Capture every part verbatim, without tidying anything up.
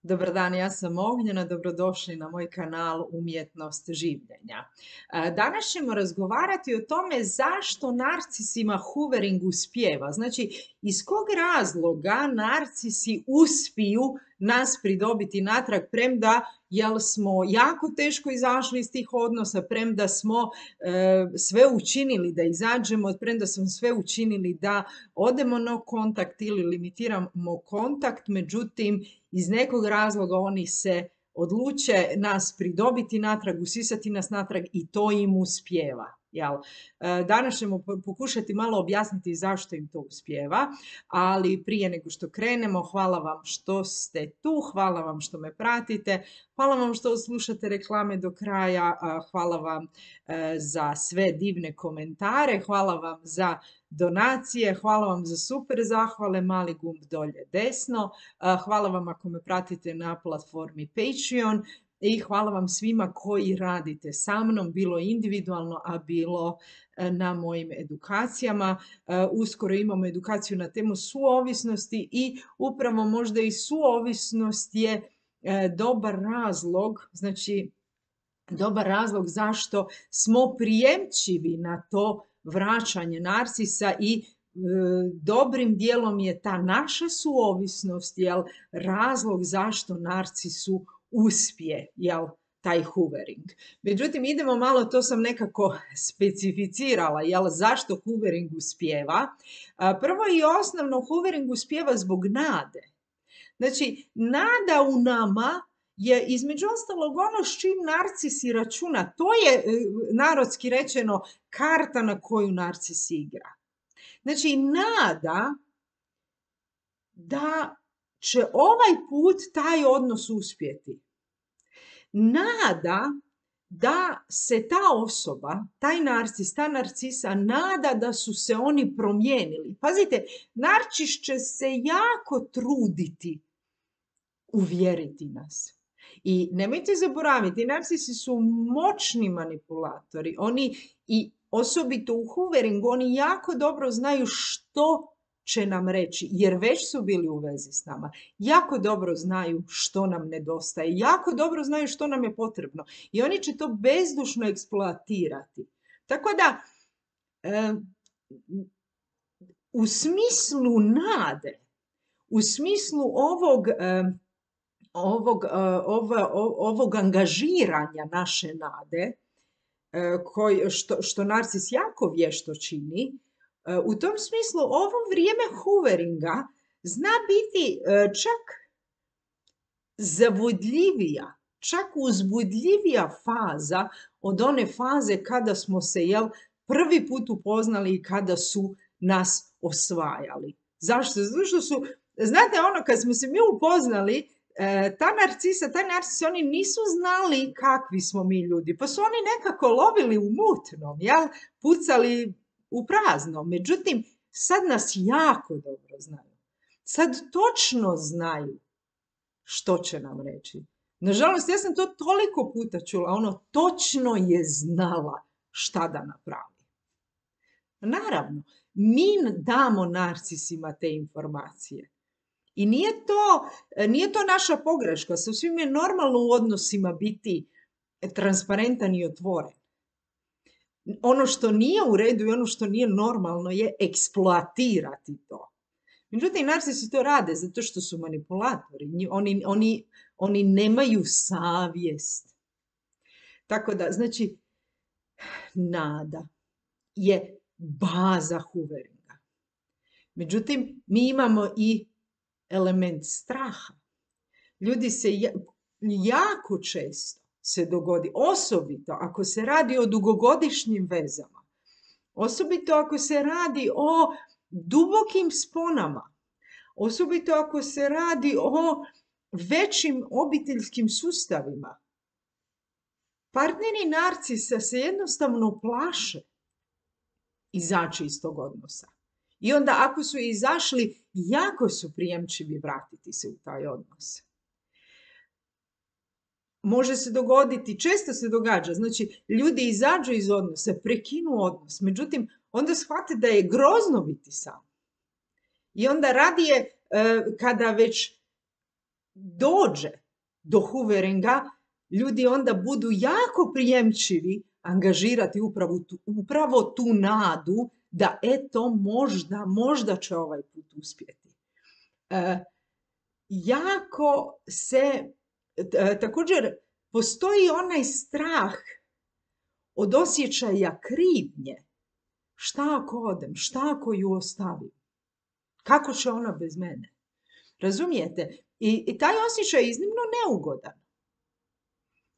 Dobar dan, ja sam Ognjena, dobrodošli na moj kanal Umjetnost življenja. E, Danas ćemo razgovarati o tome zašto narcisima hoovering uspijeva. Znači, iz kog razloga narcisi uspiju nas pridobiti natrag, premda jel smo jako teško izašli iz tih odnosa, premda smo e, sve učinili da izađemo, premda smo sve učinili da odemo na kontakt ili limitiramo kontakt, međutim, iz nekog razloga oni se odluče nas pridobiti natrag, usisati nas natrag i to im uspijeva. Jel? Danas ćemo pokušati malo objasniti zašto im to uspijeva, ali prije nego što krenemo, hvala vam što ste tu, hvala vam što me pratite, hvala vam što slušate reklame do kraja, hvala vam za sve divne komentare, hvala vam za donacije, hvala vam za super zahvale, mali gumb dolje desno, hvala vam ako me pratite na platformi Patreon i hvala vam svima koji radite sa mnom, bilo individualno, a bilo na mojim edukacijama. Uskoro imamo edukaciju na temu suovisnosti i upravo možda i suovisnost je dobar razlog, znači dobar razlog zašto smo prijemčivi na to vraćanje narcisa i e, dobrim dijelom je ta naša suovisnost jel, razlog zašto narcisu uspije jel, taj hoovering. Međutim, idemo malo, to sam nekako specificirala, jel, zašto hoovering uspijeva. Prvo i osnovno, hoovering uspijeva zbog nade. Znači, nada u nama je između ostalog ono s čim narcis računa. To je, narodski rečeno, karta na koju narcis igra. Znači, nada da će ovaj put taj odnos uspjeti. Nada da se ta osoba, taj narcis, ta narcisa, nada da su se oni promijenili. Pazite, narcis će se jako truditi uvjeriti nas. I nemojte zaboraviti, narcisi su moćni manipulatori. Oni, i osobito u hooveringu, oni jako dobro znaju što će nam reći, jer već su bili u vezi s nama. Jako dobro znaju što nam nedostaje, jako dobro znaju što nam je potrebno. I oni će to bezdušno eksploatirati. Tako da, e, u smislu nade, u smislu ovog... E, Ovog, ovog, ovog angažiranja naše nade, koji, što, što narcis jako vješto čini, u tom smislu ovo vrijeme hooveringa zna biti čak zavodljivija, čak uzbudljivija faza od one faze kada smo se jel, prvi put upoznali i kada su nas osvajali. Zašto? Zato što su, znate ono, kad smo se mi upoznali, ta narcisa, taj narcis, oni nisu znali kakvi smo mi ljudi, pa su oni nekako lovili u mutnom, jel? Pucali u prazno. Međutim, sad nas jako dobro znaju. Sad točno znaju što će nam reći. Nažalost, ja sam to toliko puta čula, ono točno je znala šta da napravi. Naravno, mi damo narcisima te informacije. I nije to, nije to naša pogreška, sasvim je normalno u odnosima biti transparentan i otvoren. Ono što nije u redu i ono što nije normalno je eksploatirati to. Međutim, narcisi to rade zato što su manipulatori. Oni, oni, oni nemaju savjest. Tako da, znači, nada je baza hooveringa. Međutim, mi imamo i element straha. Ljudi se jako često se dogodi, osobito ako se radi o dugogodišnjim vezama, osobito ako se radi o dubokim sponama, osobito ako se radi o većim obiteljskim sustavima. Partneri narcisa se jednostavno plaše izaći iz tog odnosa. I onda ako su izašli, jako su prijemčivi vratiti se u taj odnos. Može se dogoditi, često se događa, znači ljudi izađu iz odnosa, prekinu odnos, međutim onda shvate da je grozno biti sam. I onda radije kada već dođe do hooveringa, ljudi onda budu jako prijemčivi angažirati upravo tu, upravo tu nadu da eto možda, možda će ovaj put uspjeti. E, jako se, t, također postoji onaj strah od osjećaja krivnje. Šta ako odem? Šta ako ju ostavim? Kako će ona bez mene? Razumijete? I, i taj osjećaj je iznimno neugodan.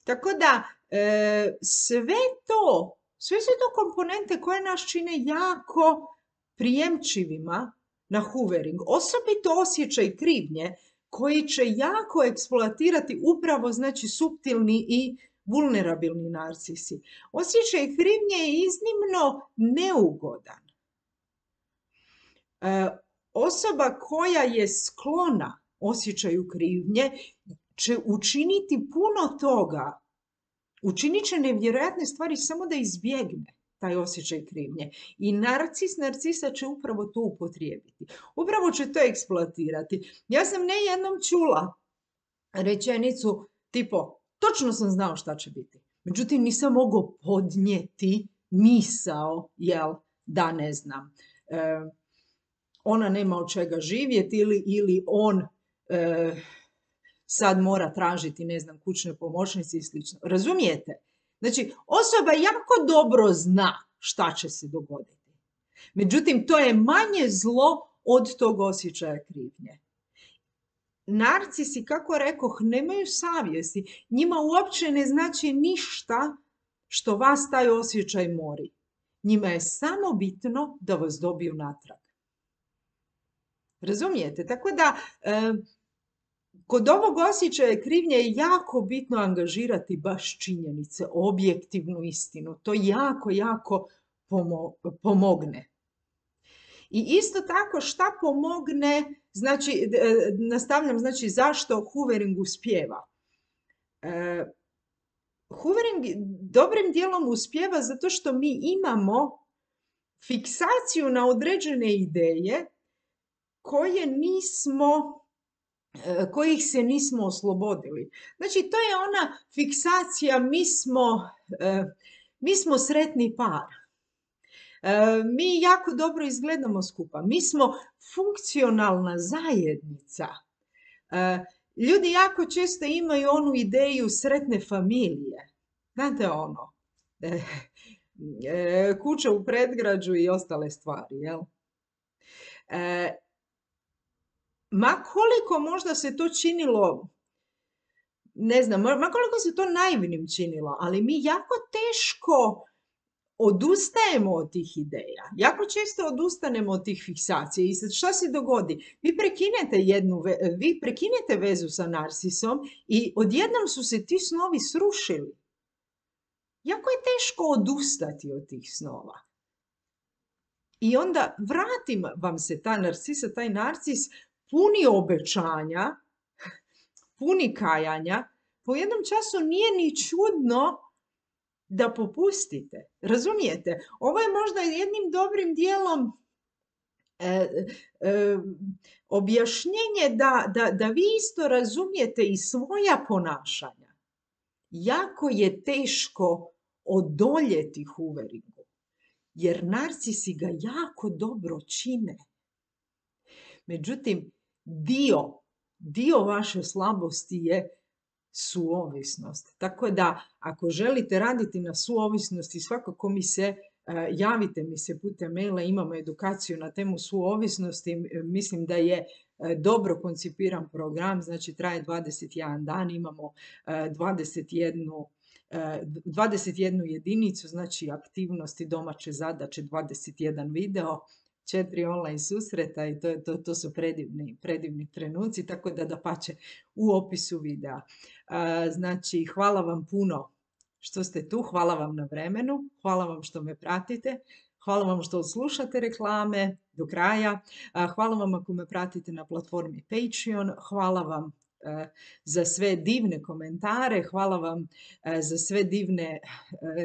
Tako da e, sve to, sve su to komponente koje nas čine jako prijemčivima na hoovering. Osobito osjećaj krivnje koji će jako eksploatirati upravo znači suptilni i vulnerabilni narcisi. Osjećaj krivnje je iznimno neugodan. E, osoba koja je sklona osjećaju krivnje će učiniti puno toga, učinit će nevjerojatne stvari samo da izbjegne taj osjećaj krivnje. I narcis, narcisa će upravo to upotrijebiti. Upravo će to eksploatirati. Ja sam ne jednom čula rečenicu tipo, točno sam znao šta će biti. Međutim, nisam mogao podnijeti misao, jel, da ne znam, e, ona nema od čega živjeti ili, ili on e, sad mora tražiti, ne znam, kućne pomoćnice i slično. Razumijete? Znači, osoba jako dobro zna šta će se dogoditi. Međutim, to je manje zlo od tog osjećaja krivnje. Narcisi, kako rekoh, nemaju savjesti. Njima uopće ne znači ništa što vas taj osjećaj mori. Njima je samo bitno da vas dobiju natrag. Razumijete? Tako da, e, kod ovog osjećaja krivnje je jako bitno angažirati baš činjenice, objektivnu istinu. To jako, jako pomo pomogne. I isto tako šta pomogne, znači, nastavljam, znači zašto hoovering uspijeva. E, hoovering dobrim dijelom uspijeva zato što mi imamo fiksaciju na određene ideje koje nismo, kojih se nismo oslobodili. Znači, to je ona fiksacija, mi smo, mi smo sretni par. Mi jako dobro izgledamo skupa. Mi smo funkcionalna zajednica. Ljudi jako često imaju onu ideju sretne familije. Znate ono, kuća u predgrađu i ostale stvari, jel? Ma koliko možda se to činilo, ne znam, ma koliko se to naivnim činilo, ali mi jako teško odustajemo od tih ideja. Jako često odustanemo od tih fiksacija. I sad šta se dogodi? Vi prekinete, jednu, vi prekinete vezu sa narcisom i odjednom su se ti snovi srušili. Jako je teško odustati od tih snova. I onda vratim vam se ta narcisa, taj narcis puni obećanja, puni kajanja. Po jednom času nije ni čudno da popustite. Razumijete? Ovo je možda jednim dobrim dijelom e, e, objašnjenje da, da, da vi isto razumijete i svoja ponašanja. Jako je teško odoljeti hooveringu, jer narcisi ga jako dobro čine. Međutim, dio, dio vaše slabosti je suovisnost. Tako da, ako želite raditi na suovisnosti, svakako mi se, javite mi se putem maila, imamo edukaciju na temu suovisnosti. Mislim da je dobro koncipiran program, znači traje dvadeset jedan dan, imamo dvadeset jednu, dvadeset jednu jedinicu, znači aktivnosti, domaće zadaće, dvadeset jedan video, četiri online susreta i to, to, to su predivni, predivni trenuci, tako da dapače u opisu videa. Znači, hvala vam puno što ste tu, hvala vam na vremenu, hvala vam što me pratite, hvala vam što slušate reklame do kraja, hvala vam ako me pratite na platformi Patreon, hvala vam e, za sve divne komentare, hvala vam e, za sve divne e,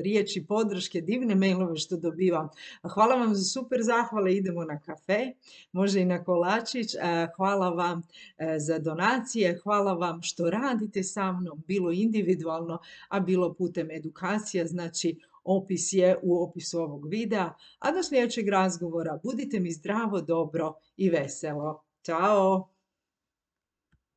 riječi podrške, divne mailove što dobivam. Hvala vam za super zahvale, idemo na kafe, može i na kolačić. E, Hvala vam e, za donacije, hvala vam što radite sa mnom, bilo individualno, a bilo putem edukacija, znači opis je u opisu ovog videa. A do sljedećeg razgovora budite mi zdravo, dobro i veselo. Ćao!